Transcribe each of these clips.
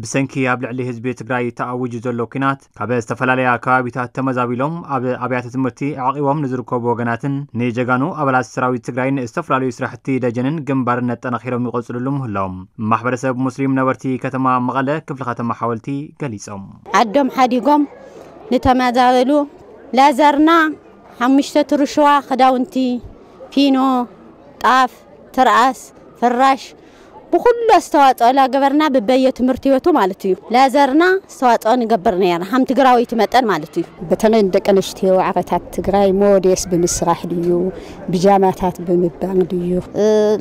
ብሰንኪ ኣብ ልዕሊ ህዝቢ ትግራይ ተኣዊጁ ዘሎ ኲናት ካብ ዝተፈላለያ ከባቢታት ተመዛቢሎም ኣብ ኣብያተ ትምህርቲ ኣዕቒቦም ንዝርከቡ ወገናትን ንጀጋኑ ኣባላት ሰራዊት ትግራይን ዝተፈላለዩ ስራሕቲ ደጀንን ግንባርን ኣጠናኺሮም ይቐፅልሉ ምህላዎም ማሕበረሰብ ሙስሊም ነበርቲ ከተማ መቐለ ክፍለ ከተማ ሓወልቲ ገሊፆም። ዓዶም ሓዲጎም ንተመዛበሉ ላዘርና ሓሙሽተ ትርሽዋ ክዳውንቲ፣ ፊኖ፣ ጣፍ፣ ትርኣስ፣ ፍራሽ ብኩሉ ኣስተዋፅኦ ላገበርና ብበየ ትምህርቲ ቤቱ ማለት እዩ። ላዘርና ኣስተዋፅኦ ንገብር ነርና ከም ትግራወይቲ መጠን ማለት እዩ። በተለይ ንደቂ ኣንስትዮ ዓቐታት ትግራይ ሞዴስ ብምስራሕ ድዩ፣ ብጃማታት ብምባል ድዩ?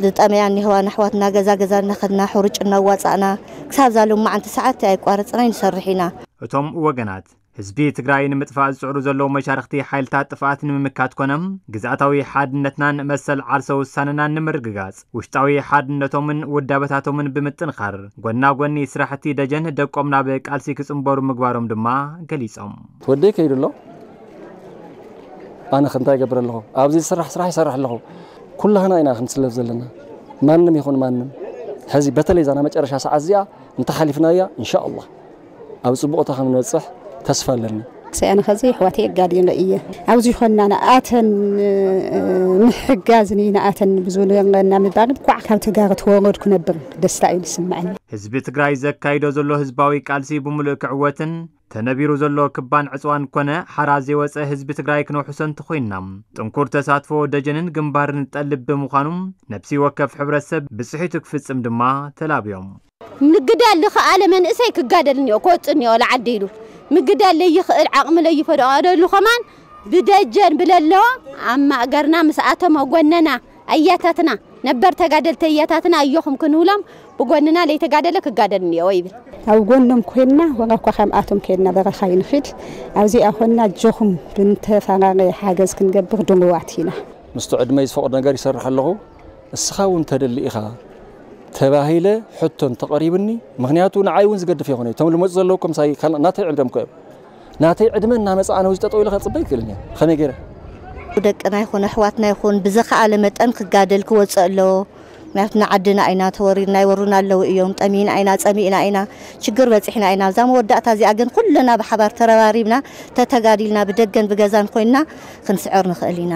ዝጠመያ እኒህዋ ኣሕዋትና ገዛ ገዛ እናኸድና ሕሩጭ እናዋፃእና ክሳብ ዛሎም መዓልቲ ሰዓት ኣይቋረፅና ንሰርሕ ኢና። እቶም ወገናት ህዝቢ ትግራይ ንምጥፋእ ዝፅዕሩ ዘለዉ መሻርኽቲ ሓይልታት ጥፍኣት ንምምካት ኮነ ግዝኣታዊ ሓድነትናን መሰል ዓርሰ ውሳነናን ንምርግጋፅ ውሽጣዊ ሓድነቶምን ውዳበታቶምን ብምጥንኻር ጎና ጎኒ ስራሕቲ ደጀን ደቆም ናብ ቃልሲ ክፅንበሩ ምግባሮም ድማ ገሊፆም። ወደይ ከይዱ ኣሎ። ኣነ ክንታይ ይገብር ኣለኹ? ኣብዚ ዝስራሕ ስራሕ ይሰርሕ ኣለኹ። ኩላህና ኢና ክንስለፍ ዘለና። ማንም ይኹን ማንም ሕዚ በተለይ ዛና መጨረሻ ሰዓት እዚኣ እንተሓሊፍናያ እንሻ ኣላህ ኣብ ፅቡቕታ ከም ንበፅሕ ተስፋ ኣለኒ። ሰኣነ ኸዚ ኣሕዋተይ የጋድየን እየ። ኣብዚ ኾንና ንኣተን ምሕጋዝን እዩ ንኣተን ብዙ ንበና ምባል ኳዕ ካብ ተጋሩ ተወረድኩ ነብር ደስታ እዩ ዝስምዐኒ። ህዝቢ ትግራይ ዘካይዶ ዘሎ ህዝባዊ ቃልሲ ብምሉእ ክዕወትን ተነቢሩ ዘሎ ክባን ዕፅዋን ኮነ ሓራ ዘይወፀ ህዝቢ ትግራይ ክነውሕሶ እንተኾይንና ጥንኩር ተሳትፎ ደጀንን ግንባርን ጠልብ ብምዃኑ ነብሲ ወከፍ ሕብረተሰብ ብፅሒቱ ክፍፅም ድማ ተላብዮም። ምግዳል ዝኸኣለ መንእሰይ ክጋደል እኒኦ ክወፅእ እኒኦ ለዓዲ ኢሉ ምግዳል ለይኽእል ዓቕሚ ለይፈደቓደሉ ከማን ብደጀን ብለለዎ ኣብ ማእገርና ምስኣቶም ኣጎነና ኣያታትና ነበር ተጋደልቲ ኣያታትና ኣዮኹም ክንብሎም ብጎንና ለይተጋደለ ክጋደል እኒኦ ይብል። ኣብ ጎኖም ኮይንና ወላ እኳ ከምኣቶም ከይድና በረኻ ይንኺድ ኣብዚኣ ኮንና ኣጆኹም ብንተፈላለየ ሓገዝ ክንገብር ድልዋት ኢና። ምስቲ ዕድመይ ዝፈቕዶ ነገር ይሰርሕ ኣለኹ። እስኻ እውን ተደሊ ኢኻ ተባሂለ ሕቶ እንተቐሪብኒ፣ ምኽንያቱ ንዓይ እውን ዝገድፍ የኾነ እዩ። እቶም ልመፁ ዘለዉ እኮ ምሳይ ካልእ ናተይ ዕድመ እኮ እዮም። ናተይ ዕድመ እናመፀ ኣነ ውዚ ጠጠው ኢለ ከፅበ ይክእልን እየ። ከመይ ገይረ? ደቅና ይኹን ኣሕዋትና ይኹን ብዝኸኣለ መጠን ክጋደል ክወፅእ ኣለዎ። ምክንያቱ ንዓድና ኢና ተወሪርና ይወሩና ኣለዉ እዮም። ጠሚና ኢና፣ ፀሚእና ኢና። ሽግር በፂሕና ኢና። ኣብዛ መወዳእታ እዚኣ ግን ኩልና ብሓባር ተረባሪብና ተተጋዲልና ብደገን ብገዛን ኮይንና ክንስዕር ንኽእል ኢና።